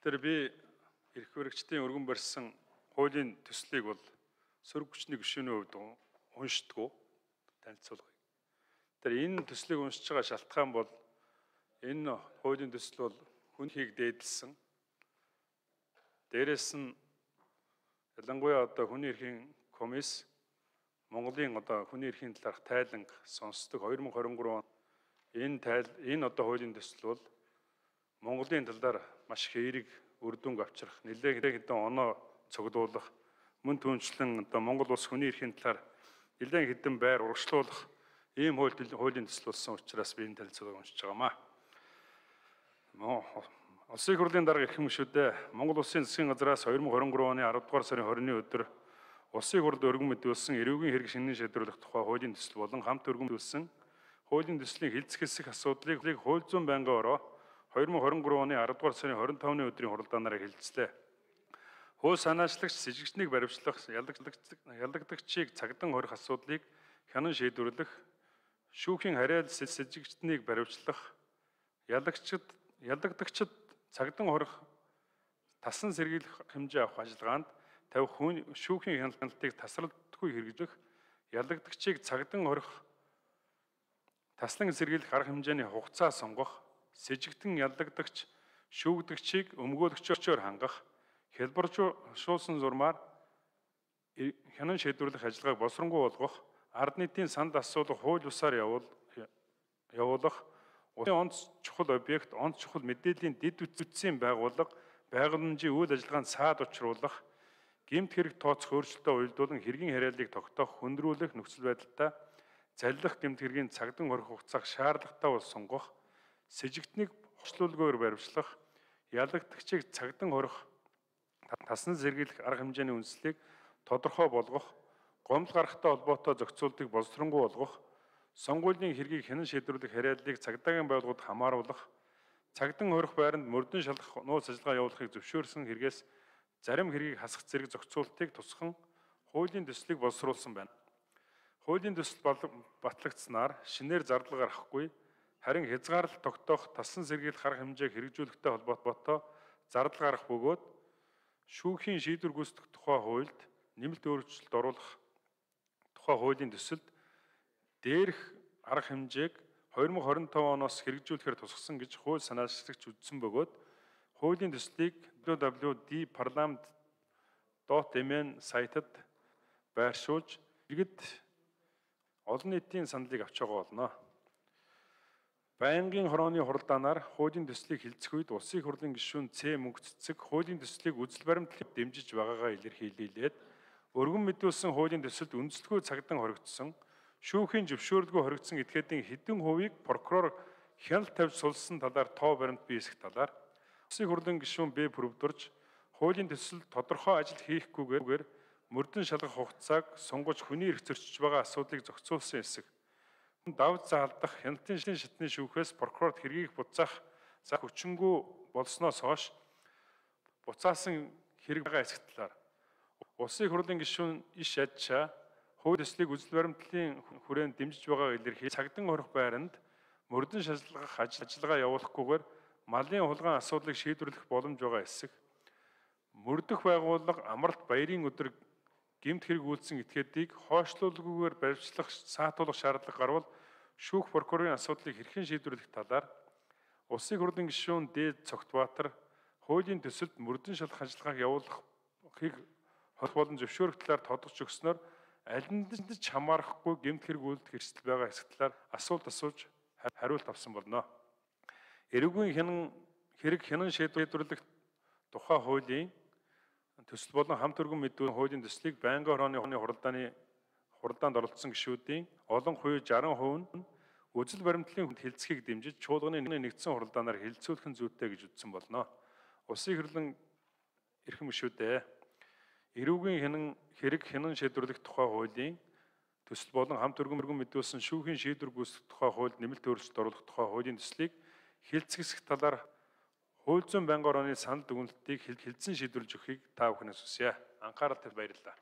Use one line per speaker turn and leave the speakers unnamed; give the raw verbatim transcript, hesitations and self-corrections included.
Тэгэхээр би эрх баригчдын өргөн барьсан хуулийн төслийг бол сөрөг хүчний гишүүний хувьд уншдаггүй танилцуулгая. Тэр энэ төслийг уншиж байгаа шалтгаан бол энэ хуулийн төсөл бол хүн хийг дээдлсэн. Дээрээс нь ялангуяа одоо хүний эрхийн комисс Монголын одоо хүний эрхийн талаарх тайланг сонсдог две тысячи двадцать три он энэ тайл энэ одоо хуулийн төсөл бол Монголын талаар маш их эерэг үр дүнг авчрах, нэлээд хэдэн оноо цуглуулах, мөн түүнчлэн одоо Монгол улс хүний эрхийн талаар нэлээд хэдэн байр урагшлуулах ийм хуулийн төсөл болсон учраас би энэ танилцуулгыг уншиж байгаамаа. Улсын их хурлын дарга эрхэм гишүүдээ Монгол улсын засгийн газраас две тысячи двадцать три оны аравдугаар сарын двадцатны өдөр улсын их хурлд өргөн мэдүүлсэн эрүүгийн хэрэг шинэн шийдвэрлэх тухай хуулийн төсөл болон хамт өргөн мэдүүлсэн хуулийн төслийн хилцэх хэсэг асуудлыг хууль зүйн байнгын ороо две тысячи двадцать три оны аравдугаар сарын двадцать тавны өдрийн хуралдаанаараа хэлэлцлээ. Хууль санаачлагч сэжигчнийг баривчлах, ялагдагчийг цагдан хорих асуудлыг хянан шийдвэрлэх, шүүхийн харьяал сэжигчнийг баривчлах, ялагдагчид ялагдагчид цагдан хорих тасан сэргийлэх хэмжээ авах ажиллагаанд тавих хүн шүүхийн хяналтыг тасралтгүй хэрэгжих, ялагдагчийг цагдан хорих таслан сэргийлэх арга хэмжээний хугацаа сонгох, сэжигтэн ялагдагч шүүгдэгчийг өмгөөлөгчөөр хангах, хялбаршуулсан зурмаар хянан шийдвэрлэх ажиллагааг боловсронгуй болгох, ард нийтийн санд асуулах хууль бусаар явуулах, улсын онц чухал объект, онц чухал мэдээллийн дэд үтцийн байгууллага, байгууламжийн үйл ажиллагаанд саад учруулах, гэмт хэрэг тооцох өөрчлөлтөө уялдуулан хэргийн харьяаллыг тогтоох, хөндрүүлэх нөхцөл байдалтай заллах гэмт хэргийн цагдан хорих хугацааг шаардлагатай бол сонгох, сэжигтнийг бослуулгүйгээр баривчлах, ялагдагчийг цагдан хорих тасн сэргийлэх арга хэмжээний үндслийг тодорхой болгох, гомдол гарахтай холбоотой зохицуултыг боловсронгуй болгох, сонгуулийн хэргийг хянан шийдвэрлэх харьяаллыг цагдаагийн байгууллагад хамааруулах, цагдан хорих байранд мөрдөн шалгах нууц ажиллагаа явуулахыг зөвшөөрсөн хэрэгээс зарим хэргийг хасах зэрэг зохицуултыг тусган хуулийн төслийг боловсруулсан байна. Хуулийн төсөл батлагдсанаар шинээр зардал гарахгүй, харин хязгаарлалт тогтоох, тассан сэргийлэх арга хэмжээг хэрэгжүүлэхтэй холбоотой зардал гарах бөгөөд шүүхийн шийдвэр гүйцэтгэх тухай хуульд нэмэлт өөрчлөлт оруулах тухай хуулийн төсөлд дээрх арга хэмжээг две тысячи двадцать five оноос хэрэгжүүлэхээр тусгасан гэж хууль санаачлагч үзсэн бөгөөд хуулийн төслийг дабл ю дабл ю дабл ю точка ди парламент точка эм эн сайтад байршуулж иргэд олон нийтийн саналыг авч байгаа болно. Байнгын хорооны хуралдаанаар хуулийн төслийг хилцэх үед улсын их хурлын гишүүн Ц мөнх цэцэг хуулийн төслийг үзэл баримтлалыг дэмжиж байгаагаа илэрхийлээд өргөн мэдүүлсэн хуулийн төсөлд үндэслэгүй цагдан хоригдсон, шүүхийн зөвшөөрлгүй хоригдсон этгээдийн хэдэн хувийг прокурор хяналт тавьж сулсан талаар тоо баримт биесгэх талаар улсын их хурлын гишүүн Б бүрдурж хуулийн төсөлд тодорхой ажил хийхгүйгээр мөрдөн шалгах хугацааг сунгаж хүний эрх зөрчиж байгаа асуудлыг зохицуулсан хэсэг. Давж заалдах хяналтын шатны шүүхээс прокурорт хэргийг буцаах за хүчингүй болсноос хойш буцаасан хэрэг байгаа хэсэг талаар улсын их хурлын гишүүн иш ядчаа хууль төслийг үзэл баримтлалын хүрээнд дэмжиж байгааг илэрхийлж цагдан хорих байранд мөрдөн шалгах ажиллагаа явуулахгүйгээр малын хулгайн асуудлыг шийдвэрлэх боломж байгаа хэсэг. Мөрдөх байгууллага амралт баярын өдөр гэмт хэрэг үйлдсэн этгээдийг хойшлуулгүйгээр баривчлах, саатуулах шаардлага гарвал шүүх прокурорын асуудлыг хэрхэн шийдвэрлэх талаар улсын их хурлын гишүүн Д Цогтбаатар хуулийн төсөлд мөрдөн шалгах ажиллагааг явуулахыг хол болон зөвшөөрөх талаар тодорч өгснөөр аль нь ч хамаарахгүй гэмт хэрэг үйлдэх эрсдэл байгаа хэсэг талаар асуулт асууж хариулт авсан болно. Эрүүгийн хянан хэрэг хянан шийдвэрлэх тухай хуулийн төсөл болон хамт өргөн мэдүүлсэн хуулийн төслийг байнгын хорооны хуралдааны хуралдаанд оролцсон гишүүдийн олон хувь шестьдесят хувь нь үзэл баримтлалын хилцхийг дэмжиж чуулганы нэгдсэн хуралдаанаар хилцүүлэх нь зүйтэй гэж үзсэн болно. Улсын их хурлын эрхэм гишүүдээ эрүүгийн хянан хэрэг хянан шийдвэрлэх тухай хуулийн төсөл болон хамт өргөн мэдүүлсэн шүүхийн шийдвэр гүйцэтгэх тухай хуульд нэмэлт өөрчлөлт оруулах тухай хуулийн төслийг хилцэх талаар хууль зүйн байнгын орооны санал дүгнэлтийг хилцэн шийдвэрлэж өгөхийг та бүхнээс хүсье. Анхаарал тавьж баярлалаа.